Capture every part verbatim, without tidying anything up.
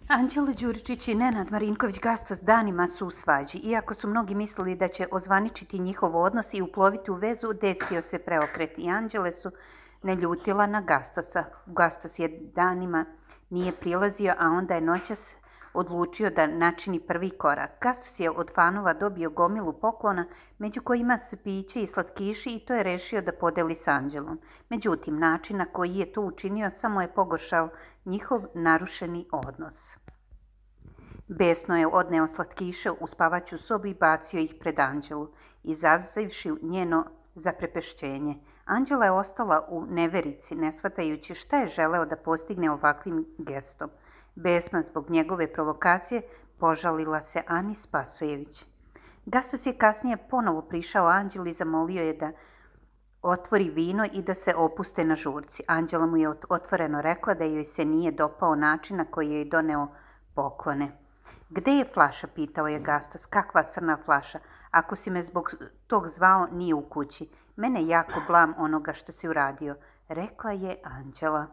Anđelo Đuričić i Nenad Marinković-Gastos danima su u svađi. Iako su mnogi mislili da će ozvaničiti njihov odnos i uploviti u vezu, desio se preokret i Anđele su naljutila na Gastosa. Gastos je danima nije prilazio, a onda je noćas odlučio da načini prvi korak. Gastos je od fanova dobio gomilu poklona, među kojima su piće i slatkiši, i to je rešio da podeli s Anđelom. Međutim, način na koji je to učinio samo je pogoršao njihov narušeni odnos. Besno je odneo slatkiše u spavaću sobu i bacio ih pred Anđelu, izazivši njeno zaprepešćenje. Anđela je ostala u neverici, ne shvatajući šta je želeo da postigne ovakvim gestom. Besna zbog njegove provokacije požalila se Ani Spasojević. Gastos je kasnije ponovo prišao Anđeli i zamolio je da otvori vino i da se opuste na žurci. Anđela mu je otvoreno rekla da joj se nije dopao način na koji je doneo poklone. Gde je flaša, pitao je Gastos. Kakva crna flaša? Ako si me zbog tog zvao, nije u kući. Mene jako blam onoga što si uradio, rekla je Anđela.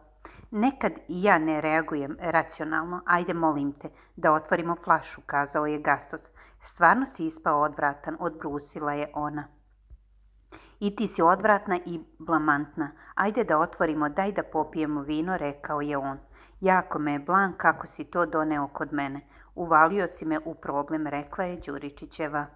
Nekad i ja ne reagujem racionalno. Ajde, molim te, da otvorimo flašu, kazao je Gastos. Stvarno si ispao odvratan, odbrusila je ona. I ti si odvratna i blamantna. Ajde da otvorimo, daj da popijemo vino, rekao je on. Jako me je blam kako si to doneo kod mene. Uvalio si me u problem, rekla je Đuričićeva.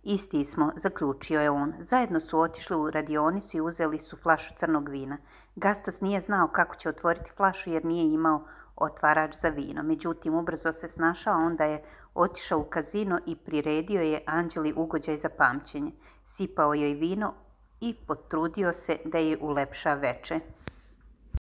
Isti smo, zaključio je on. Zajedno su otišli u radionicu i uzeli su flašu crnog vina. Gastos nije znao kako će otvoriti flašu jer nije imao otvarač za vino. Međutim, ubrzo se snašao, onda je otišao u kazino i priredio je Anđeli ugođaj za pamćenje. Sipao joj vino i potrudio se da je ulepša veče.